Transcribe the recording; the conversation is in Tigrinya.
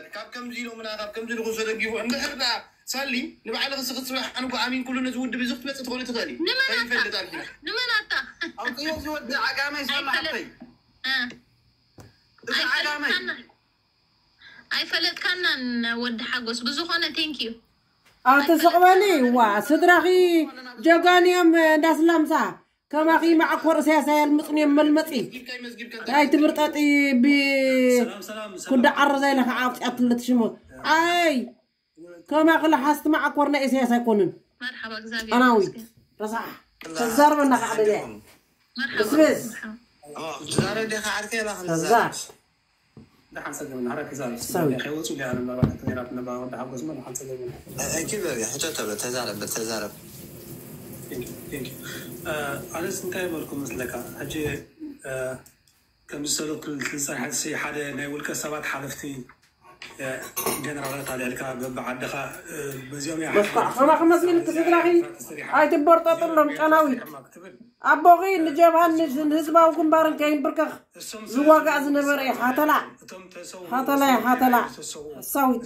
ካብ ከምዚ ኢሎምና ካብ ከምዚ ንክሶ ደጊፉ እንድሕር ደኣ ሳሊ ንባዕልኺ ስኺ ጽባሕ ኣነ እኮ ኣሚን ኩሉ ነዚ ውድብ እዚ ክትመጽእ ትኾኒ ትኽእሊ። ንመን ኣታ? ከይፈልጥ ኣልኪና። ንመን ኣታ? ኣውፅዮ ዝወዲ ዓጋመይ ሳላ ኣይፈለጥ- ሓተይ። እ። እዚ ዓጋመይ። ኣይፈለጥካና- ኣይፈለጥካናን ወዲ ሓጎስ። ብዝኾነ ቴንክ ዩ። ኣትስቕበኒ ዋ ስድራኺ ጀጋን እዮም እንዳስላምሳ ከማኺ መዓኮር እሳያስ ኣየልምፅን እዮም መልመፂ። ኣይትብርጠጢ። ብ ኩዳ ዓረዛ ኢለ ከዓ ኣውፅኣትለት ሽሙ። ኣይ ከማኺ ለሓስቲ መዓኮር ናይ እሳያስ ኣይኮንን። መርሓባ እግዚኣብሔር ጨናዊት ይመስገን። ረሳሕ ተዛርበና ከዓ ደልያ መርሓባ። ብስብስ መርሓባ። ትዛረብ ዲኻ ዓርከይ? ላ ተዛ ክንዛረብ። ደሓን ጸገም፣ ናህራ ክዛረብ። ሰው። ከይወጹ ዲያ ነባራት ነይራት ነባ ወዲ ሓጎስ ሞ ደሓን ጸገም። እኪ በል፣ ሕቶ ተሎ፣ ተዛረብ፣ ተዛረብ። Thank you, thank you። ኣነስ እንታይ በልኩ መስለካ? ሕጂ፣ ከም ዝሰለኩ ዝጸንሐት ሲ ሓደ ናይ ውልቀ ሰባት ሓለፍቲ፣ ጀነራላት ኣልዕልካ በብዓድኻ፣ በዚኦም እያ መስኳዕ ሓለፍቲ። ከማኺ መስልክ ስድራኺ ኣይትበርጠጥሎም ጨናዊት። ክትብል ኣቦኺ ንጀብሃን ንዝ- ንህዝባዊ ግንባርን ከይንብርከኽ ዝዋጋእ ዝነበረ እዩ። ሓተላ። ሓተላ እዩ፣ ሓተላ። ሓሳዊት።